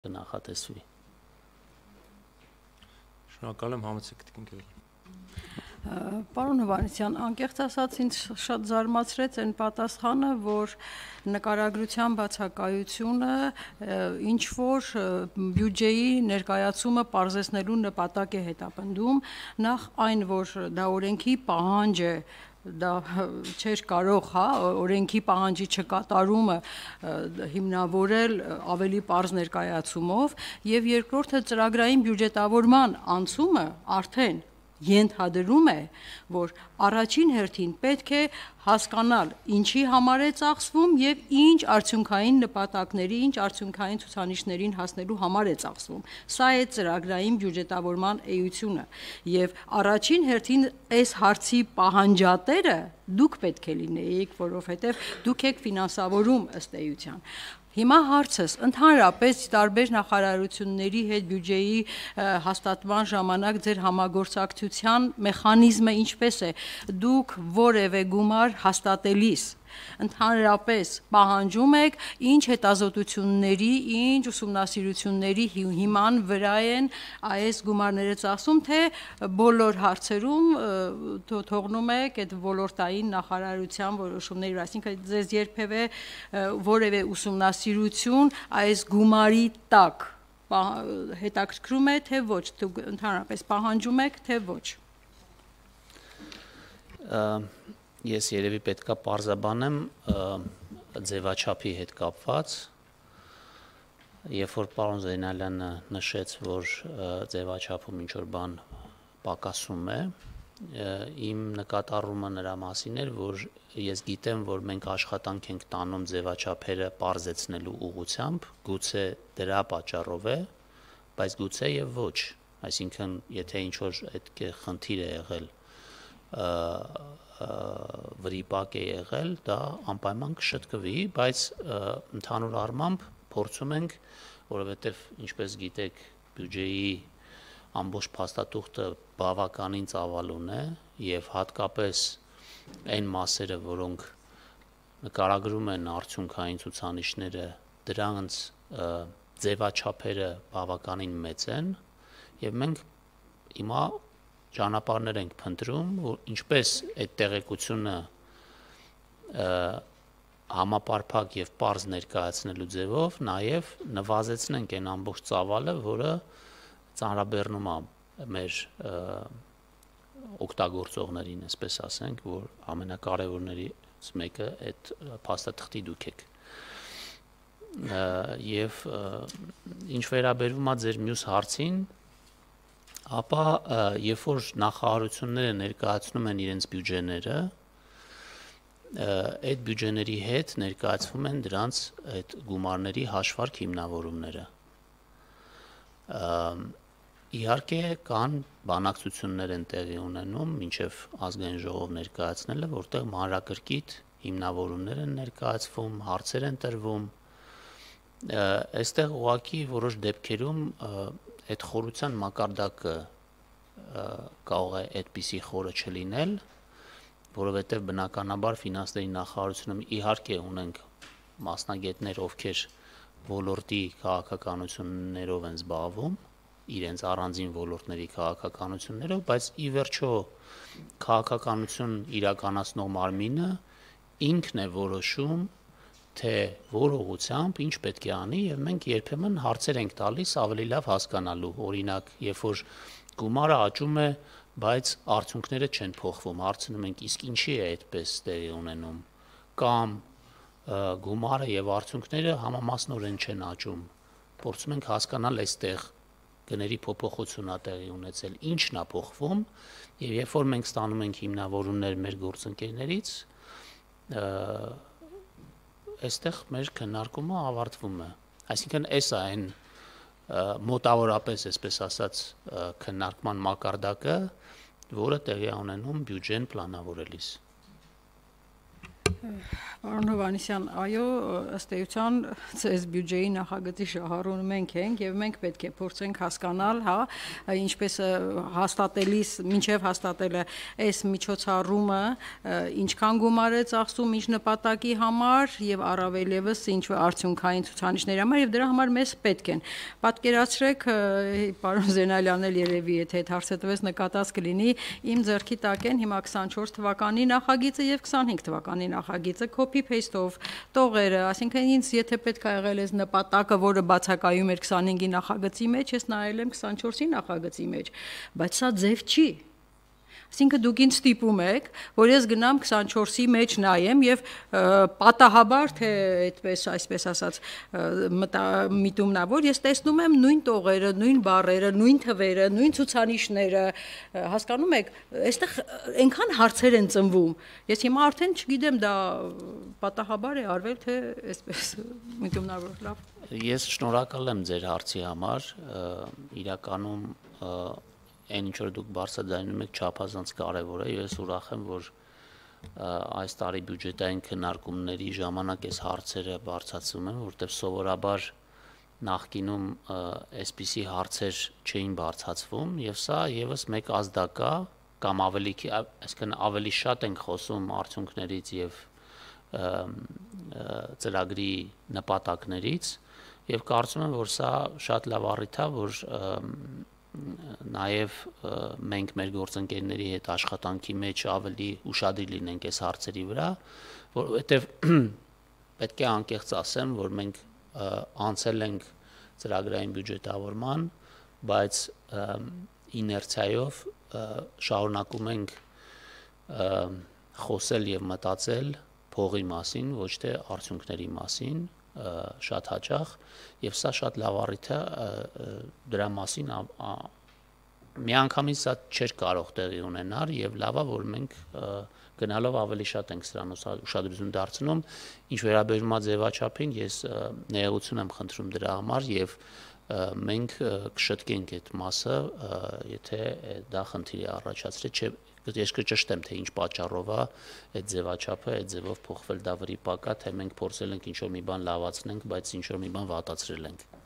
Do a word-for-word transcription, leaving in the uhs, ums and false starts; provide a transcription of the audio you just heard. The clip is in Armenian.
կնախատեսվի։ Շնորհակալ եմ, համեցեք Տիկին Գևորգ։ Պարոն Հովհաննիսյան, անկեղծ ասած ինձ շատ զարմացրեց այն պատասխանը, որ նկարագրության բացակայությունը ինչ որ բյուջեի ներկայացումը պարզեցնելու նպատակ է հետապնդում, նախ այն, որ դա օրենքի պահանջ է, դա չէր կարող, հա, օրենքի պահանջի չկատարումը հիմնավորել ավելի պարզ ներկայացումով, եւ երկրորդը ծրագրային բյուջետավորման անցումը արդեն ենթադրում է, որ առաջին հերթին պետք է հասկանալ ինչի համար է ծախսվում եւ ինչ արդյունքային նպատակների, ինչ արդյունքային ցուցանիշներին հասնելու համար է ծախսվում։ Սա է ծրագրային բյուջետավորման էությունը եւ առաջին հերթին այս հարցի պահանջատերը դուք պետք է լինեիք, որովհետեւ դուք եք ֆինանսավորում ըստ էության։ Հիմա հարցս ընդհանրապես տարբեր նախարարությունների հետ բյուջեի հաստատման ժամանակ ձեր համագործակցության մեխանիզմը ինչպես է, դուք որևէ գումար հաստատելիս ընդհանրապես պահանջում եք ինչ հետազոտությունների, ինչ ուսումնասիրությունների հիման վրա են այս գումարները ծախսում, թե բոլոր հարցերում թողնում եք այդ ոլորտային նախարարության որոշումների վրա, այսինքն ձեզ երբևէ որևէ ուսումնասիրություն այս գումարի տակ հետաքրքրում է, թե ոչ, դուք ընդհանրապես պահանջում եք, թե ոչ։ Ես երևի պետքա պարզաբանեմ ձևաչափի հետ կապված, երբ որ պարոն Զեյնալյանը նշեց, որ ձևաչափում ինչ-որ բան պակասում է, իմ նկատառումը նրա մասին էր, որ ես գիտեմ, որ մենք աշխատանք ենք տանում ձևաչափերը պարզեցնելու ուղղությամբ, գուցե դրա պատճառով է, բայց գուցե եւ ոչ, այսինքն եթե ինչ-որ այդ խնդիր է եղել, վրիպակ է եղել, դա անպայման կշտկվի, բայց ընդհանուր առմամբ փորձում ենք, որովհետև ինչպես գիտեք, բյուջեի ամբողջ փաստաթուղթը բավականին ծավալուն է եւ հատկապես այն մասերը, որոնք նկարագրում են արդյունքային ցուցանիշները, դրանց ձևաչափերը բավականին մեծ են եւ մենք հիմա ճանապարհներ ենք փնտրում, որ ինչպես այդ տեղեկությունը համապարփակ եւ պարզ ներկայացնելու ձևով նաեւ նվազեցնենք այն ամբողջ ծավալը, որը ծանրաբեռնում է մեր օգտագործողներին, այսպես ասենք, որ ամենակարևորներից մեկը այդ փաստաթղթի դուք եք։ Եվ ինչ վերաբերում է ձեր մյուս հարցին, ապա երբ որ նախարարությունները ներկայացնում են իրենց բյուջեները, այդ բյուջեների հետ ներկայացվում են դրանց այդ գումարների հաշվարկ հիմնավորումները։ Իհարկե կան բանակցություններ են տեղի ունենում մինչև ազգային ժողով ներկայացնելը, որտեղ մանրակրկիտ հիմնավորումներ են ներկայացվում, հարցեր են տրվում։ Այստեղ ուղղակի որոշ դեպքերում այդ խորության մակարդակը կարող է այդպիսի խորը չլինել, որովհետև բնականաբար ֆինանսների նախարարությունում իհարկե ունենք մասնագետներ, ովքեր ոլորտի քաղաքականություններով են զբաղվում, իրենց առանձին ոլորտների քաղաքականություններով, բայց ի վերջո քաղաքականություն իրականացնող մարմինը ինքն է որոշում, թե որ ուղղությամբ ինչ պետք է անի եւ մենք երբեմն հարցեր ենք տալիս ավելի լավ հասկանալու, օրինակ, երբ որ գումարը աճում է, բայց արդյունքները չեն փոխվում, հարցնում ենք, իսկ ինչի է այդպես տեղի ունենում, կամ գումարը եւ արդյունքները համամասնորեն չեն աճում, փորձում ենք հասկանալ այստեղ գների փոփոխությունա տեղի ունեցել, ինչն է փոխվում, եւ երբ որ մենք ստանում ենք հիմնավորումներ մեր գործընկերներից, այստեղ մեր քննարկումը ավարտվում է, այսինքն այս է այն մոտավորապես, այսպես ասած, քննարկման մակարդակը, որը տեղի է ունենում բյուջեն պլանավորելիս։ Պարոն Հովհաննիսյան, այո, ըստ էության ցես բյուջեի նախագծի շահառուն մենք ենք եւ մենք պետք է փորձենք հասկանալ, հա, ինչպես հաստատելիս, մինչեւ հաստատելը այս միջոցառումը ինչքան գումար է ծախսում ինչ նպատակի համար եւ առավել եւս ինչ արդյունքային ցուցանիշների համար եւ դրա համար մեզ պետք են։ Պատկերացրեք, պարոն Զենալյանն էլ երևի եթե այդ հարցը տվեց նկատած կլինի, իմ ձեռքի տակ են հիմա քսանչորս թվականի նախագիծը եւ քսանհինգ թվականի նախագիծը copy paste-ով տողերը, այսինքն ինձ եթե պետք է եղել այս նպատակը, որը բացակայում էր քսանհինգի նախագծի մեջ, ես նայել եմ քսանչորսի նախագծի մեջ, բայց սա ձև չի։ Այսինքն դուք ինձ ստիպում եք, որ ես գնամ քսանչորսի մեջ նայեմ եւ պատահաբար թե այդպես այսպես ասած միտումնավոր ես տեսնում եմ նույն տողերը, նույն բառերը, նույն թվերը, նույն ցուցանիշները, հասկանում եք, այստեղ այնքան հարցեր են ծնվում։ Ես հիմա արդեն չգիտեմ դա պատահաբար է արվել թե այսպես միտումնավոր լավ։ Ես շնորհակալ եմ ձեր հարցի համար, իրականում այն ինչ որ դուք բարձրաձայնում եք չափազանց կարևոր է, ես ուրախ եմ, որ այս տարի բյուջետային քննարկումների ժամանակ այս հարցերը բարձրացվում են, որտեղ սովորաբար նախկինում այսպիսի հարցեր չէին բարձրացվում, եւ սա եւս մեկ ազդակա կամ ավելի, այսինքն ավելի շատ ենք խոսում արդյունքներից եւ ծրագրի նպատակներից, եւ կարծում եմ, որ սա շատ լավ առիթ է, որ նաև մենք մեր գործընկերների հետ աշխատանքի մեջ ավելի ուշադիր լինենք այս հարցերի վրա, որովհետև պետք է անկեղծ ասեմ, որ մենք անցել ենք ծրագրային բյուջետավորման, բայց իներցիայով շարունակում ենք խոսել եւ մտածել փողի մասին, ոչ թե արդյունքների մասին, շատ հաճախ եւ սա շատ լավ առիթ է դրա մասին միանգամից սա չէր կարող տեղի ունենալ եւ լավ է որ մենք գնալով ավելի շատ ենք սրան ուշադրություն դարձնում ինչ վերաբերում է ձևաչափին ես ներողություն եմ խնդրում դրա համար եւ մենք կշտկենք այդ մասը եթե դա խնդիր է առաջացրել չէ ես կճշտեմ թե ինչ պատճառով է այդ ձևաչափը այդ ձևով փոխվել դա վրիպակա թե մենք փորձել ենք ինչ որ մի բան լավացնենք բայց ինչ որ մի բան վատացրել ենք